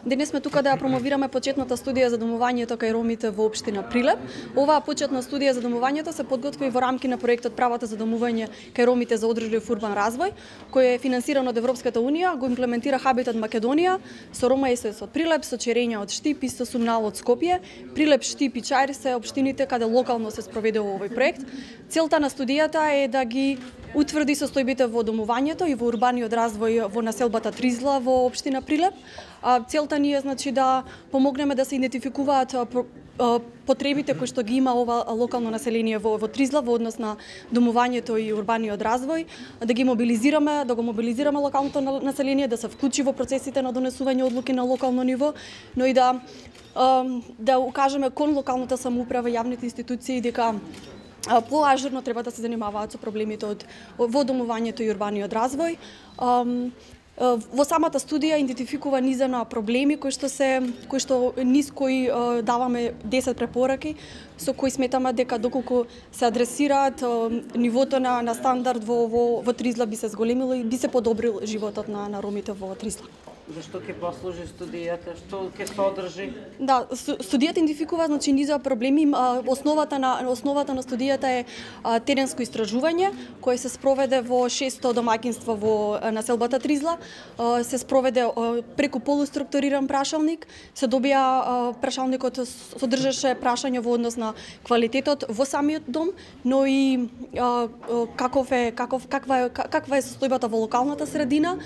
Денес сме тука да ја промовираме почетната студија за домувањето кај ромите во општина Прилеп. Оваа почетна студија за домувањето се подготви во рамки на проектот Правата за домување кај ромите за одржлив урбан развој, кој е финансиран од Европската унија, го имплементира Хабитат Македонија со Рома СС од Прилеп, со Черења од Штип и со Сумнал од Скопје. Прилеп, Штип и Чаир се општините каде локално се спроведе овој проект. Целта на студијата е да ги утврди состојбите во домувањето и во урбаниот развој во населбата Тризла во општина Прилеп. Целта ни е да помогнеме да се идентификуваат потребите кои што ги има ова локално население во Тризла во однос на домувањето и урбаниот развој, да ги мобилизираме, да го мобилизираме локалното население, да се вклучи во процесите на донесување одлуки на локално ниво, но и да укажеме кон локалната самоуправа и јавните институции дека поажурно треба да се занимаваат со проблемите во домувањето и урбаниот развој. Во самата студија идентификува низина проблеми кои што низ кои даваме 10 препораки со кои сметаме дека доколку се адресираат нивото на стандард во Тризла би се зголемило и би се подобрил животот на ромите во Тризла. Зашто ќе послужи студијата? Што ќе содржи? Да, студијата идентификува низа проблеми. Основата на студијата е теренско истражување кое се спроведе во 600 домаќинства во населбата Тризла. Се спроведе преку полуструктуриран прашалник. Се добија прашалникот содржеше прашања во однос на квалитетот во самиот дом, но и каква е состојбата во локалната средина.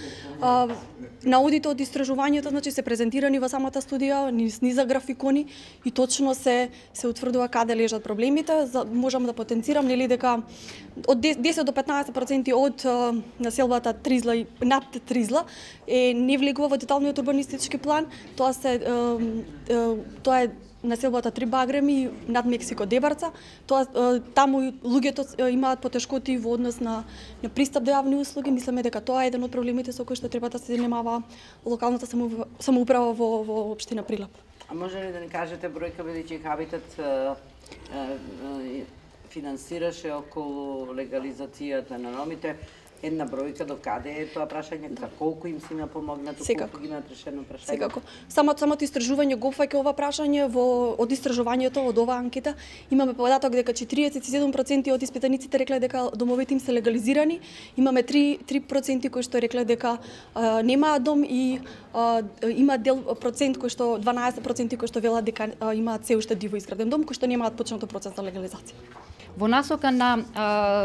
Наудите од истражувањето се презентирани во самата студија, низа графикони и точно се утврдува каде лежат проблемите. Можам да потенцирам дека од 10 до 15% од населбата Тризла и над Тризла не влегува во деталниот урбанистички план. Тоа е населбата Три Багреми над Мексико Дебарца. Таму луѓето имаат потешкоти во однос на пристап до јавни услуги. Мислиме дека тоа е еден од проблемите со кои што треба да се занимава локалната самоуправа во општина Прилеп. А може ли да ни кажете бројка, бидејќи Хабитат финансираше околу легализацијата на ромите? Една бројка до каде е тоа прашање, колку им си помогнато, колку ги имаат решено прашање? Секако. Самото истражување го опфаќа ова прашање од истражувањето, од оваа анкета. Имаме податок дека 47% од испитаниците рекле дека домовите им се легализирани. Имаме 3% кои што рекле дека немаат дом и има процент кои што 12% кои што велат дека имаат се уште диво изграден дом, кои што немаат почнато процес на легализација. Во насока на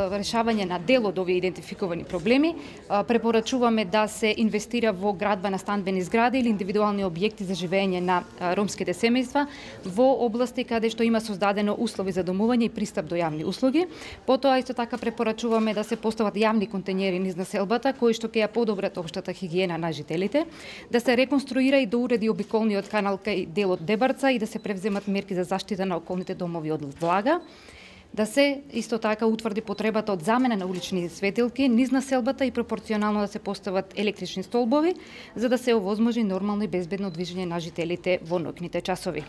решавање на дел од овие идентификувани проблеми, препорачуваме да се инвестира во градба на станбени згради или индивидуални објекти за живење на ромските семејства во области каде што има создадено услови за домување и пристап до јавни услуги. Потоа исто така препорачуваме да се постават јавни контењери низ населбата кои што ќе ја подобрат општата хигиена на жителите, да се реконструира и доуреди обиколниот канал кај делот Дебарца и да се превземат мерки за заштита на околните домови од влага. Да се исто така утврди потребата од замена на улични светилки низ населбата и пропорционално да се постават електрични столбови за да се овозможи нормално и безбедно движење на жителите во ноќните часови.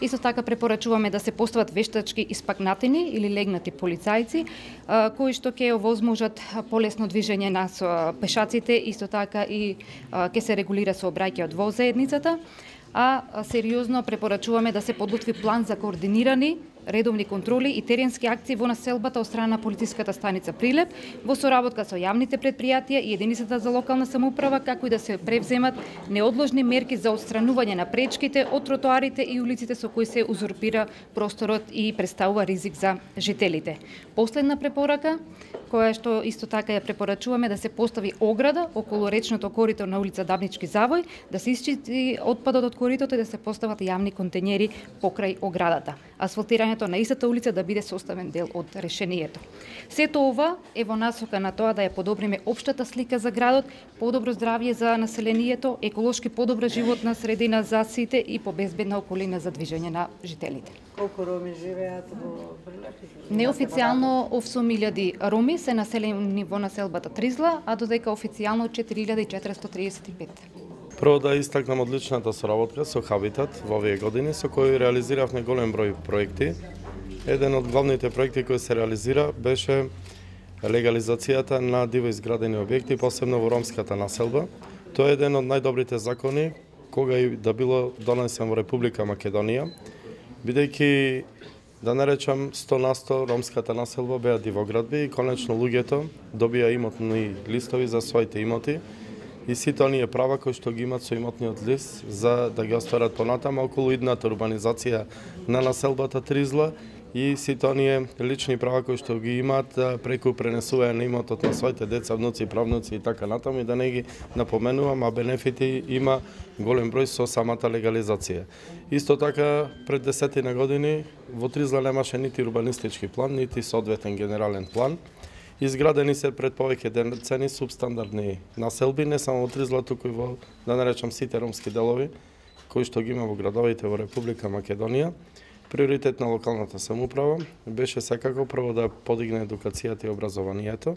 Исто така препорачуваме да се постават вештачки испакнатени или легнати полицајци кои што ќе овозможат полесно движење на пешаците, исто така и ќе се регулира сообраќајот во заедницата. А сериозно препорачуваме да се подготви план за координирани редовни контроли и теренски акции во населбата од страна на полициската станица Прилеп во соработка со јавните предпријатија и единицата за локална самоуправа, како и да се превземат неодложни мерки за отстранување на пречките од тротоарите и улиците со кои се узурпира просторот и представува ризик за жителите. Последна препорака, која што исто така ја препорачуваме, да се постави ограда околу речното корито на улица Дабнички завој, да се исчисти отпадот од коритото и да се постават јавни контењери покрај оградата. Асфалтирањето на истата улица да биде составен дел од решението. Сето ова е во насока на тоа да ја подобриме општата слика за градот, подобро здравје за населението, еколошки подобра животна средина за сите и побезбедна околина за движење на жителите. Колку роми живеат во Прилеп? Неофицијално 8.000 роми се населени во населбата Тризла, а додека официјално 4.435. Прво да истакнам одличната соработка со Хабитат во овие години, со кој реализиравме голем број проекти. Еден од главните проекти кои се реализира беше легализацијата на диво изградени објекти, посебно во ромската населба. Тоа е еден од најдобрите закони кога и да било донесен во Република Македонија, бидејќи да наречам 100% ромската населба беа дивоградби и конечно луѓето добија имотни листови за своите имоти и сите оние права кои што ги имат со имотниот лист за да ги остварат понатаму околу идната урбанизација на населбата Тризла и сите оние лични права кои што ги имаат преку пренесување на имотот на своите деца, внуци, правнуци и така натаму, и да не ги напоменувам, а бенефити има голем број со самата легализација. Исто така, пред 10 години во Тризла немаше нити урбанистички план, нити соодветен генерален план. Изградени се пред повеќе децени субстандардни населби, не само во Тризла, туку и во, да наречам, сите ромски делови, кои што ги има во градовите во Република Македонија. Приоритет на локалната самоуправа беше секако прво да подигне едукацијата и образованието.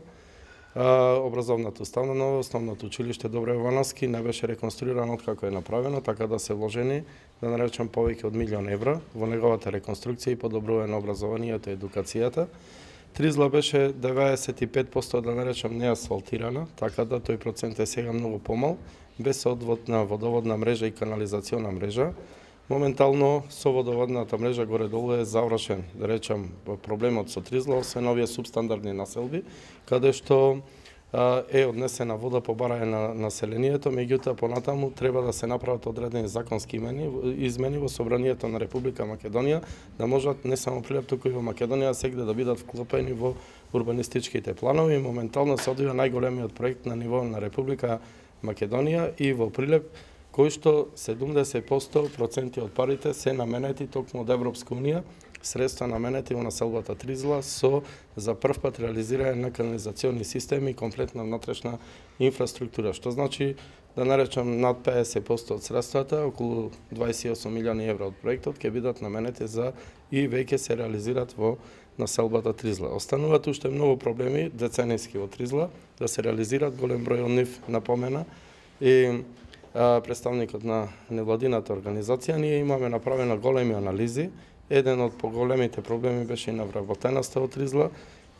Образовната установа, основното училиште Добре Ивановски не беше реконструирано откако е направено, така да се вложени, да наречам, повеќе од 1 милион евра во неговата реконструкција и подобрување на образованието и едукацијата. Тризла беше 95%, да наречам, неасфалтирана, така да тој процент е сега многу помал, без одводна водоводна мрежа и канализациона мрежа. Моментално со водоводната мрежа горе-долу е завршен, да речам, проблемот со Тризла, освен овие субстандардни населби, каде што е однесена вода по барање на населението, меѓутоа понатаму треба да се направат одредени законски измени во Собранието на Република Македонија, да можат не само Прилеп, туку и во Македонија сегде да бидат вклопени во урбанистичките планови. Моментално се одвива најголемиот проект на ниво на Република Македонија и во Прилеп, кој што 70% од парите се наменети токму од Европска унија, средства наменети во населбата Тризла со за прв пат реализирање на канализациони системи и комплетна внатрешна инфраструктура, што значи, да наречам, над 50% од средствата, околу 28 милиони евра од проектот, ќе бидат наменети за и веќе се реализираат во населбата Тризла. Остануваат уште многу проблеми деценијски во Тризла, да се реализираат, голем број од нив напомена и представникот на невладината организација. Ние имаме направено големи анализи. Еден од поголемите проблеми беше и на вработеноста од Тризла.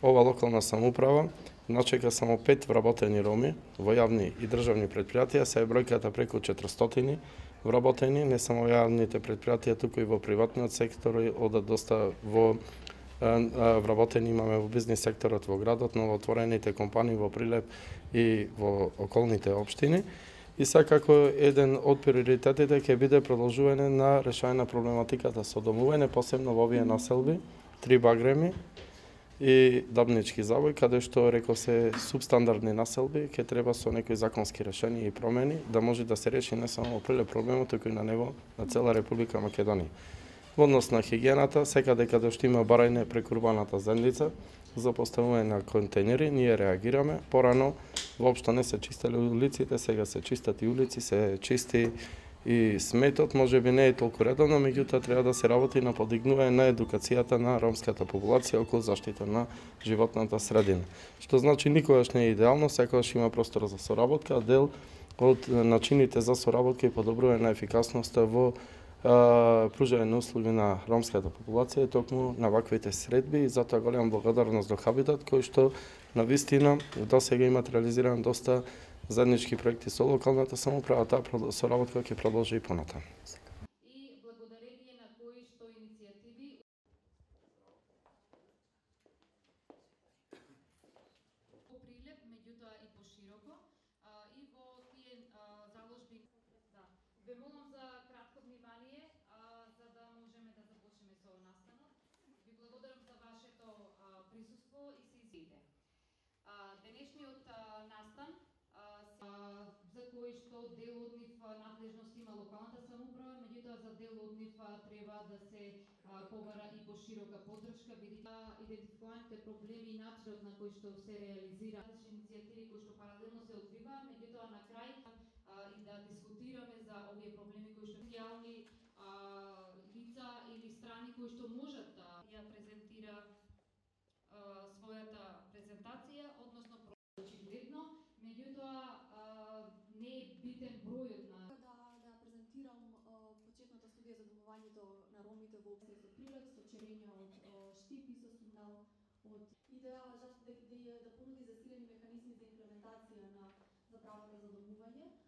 Ова локална самоуправа начека само 5 вработени роми во јавни и државни предпријатија, се е бројката преку 400 вработени, не само во јавните предпријатија, туку и во приватниот сектор, одат доста во вработени имаме во бизнис секторот во градот, новоотворените компании во Прилеп и во околните општини. И секако еден од приоритетите ќе биде продолжување на решање на проблематиката со домување, посебно во овие населби, 3 багреми и Дабнички завој, каде што реков се субстандардни населби, ќе треба со некои законски решенија и промени да може да се реши не само во Прилеп проблемот, туку и на ниво на цела Република Македонија. Во однос на хигиената, секаде каде што има барање преку урбаната земјица за поставување на контейнери, ние реагираме. Порано воопшто не се чистеле улиците, сега се чистат и улици, се чисти и сметот, можеби не е толку редовно, меѓутоа треба да се работи на подигнување на едукацијата на ромската популација околу заштита на животната средина. Што значи никогаш не е идеално, секогаш има простор за соработка, дел од начините за соработка и подобрување на ефикасноста во пружање на услуги на ромската популација и токму на ваквите средби, и затоа голема благодарност до Хабитат, кој што навистина до сега имат реализиран доста заеднички проекти со локалната самоуправа, таа соработка ќе продолжи и понатаму. И благодарение на кои што иницијативи во Прилеп, меѓутоа и пошироко, и во тие заложби. Ве молам за кратко внимание, за да можеме да започнеме со настанот. Ви благодарам за вашето присуство и се извините. Денешниот настан за кој што дел од нив надлежност има локалната самоуправа, меѓутоа за дел од нив треба да се побара и поширока поддршка, бидејќи идентификуваните проблеми и начинот на кој што се реализира различни иницијативи кои што паралелно се одвиваат, меѓутоа на крај и да дискутираме за овие проблеми кои што социјални лица или страни кои што можат да ја презентира својата презентација, односно очигледно, меѓутоа не е битен бројот на да презентирам почетната студија за домувањето на ромите во општината Прилеп со черења од штипи со сигнал од идеја да понуди засилени механизми за имплементација на правата за домување.